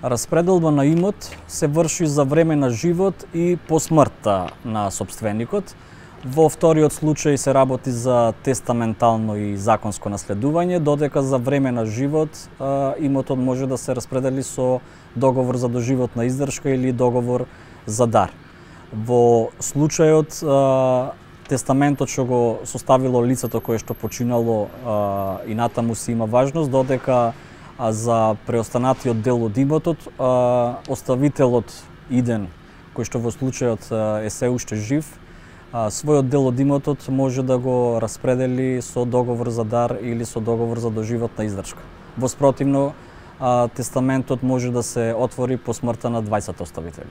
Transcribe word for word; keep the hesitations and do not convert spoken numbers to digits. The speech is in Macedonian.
Распределба на имот се врши за време на живот и по смртта на сопственикот. Во вториот случај се работи за тестаментално и законско наследување, додека за време на живот имотот може да се распредели со договор за доживотна издршка или договор за дар. Во случајот тестаментот што го составило лицето кое што починало и натаму си има важност, додека за преостанатиот дел од имотот оставителот иден, кој што во случајот е се уште жив, својот дел од имотот може да го распредели со договор за дар или со договор за доживотна издршка. Во спротивно, тестаментот може да се отвори по смртта на двајцата оставители.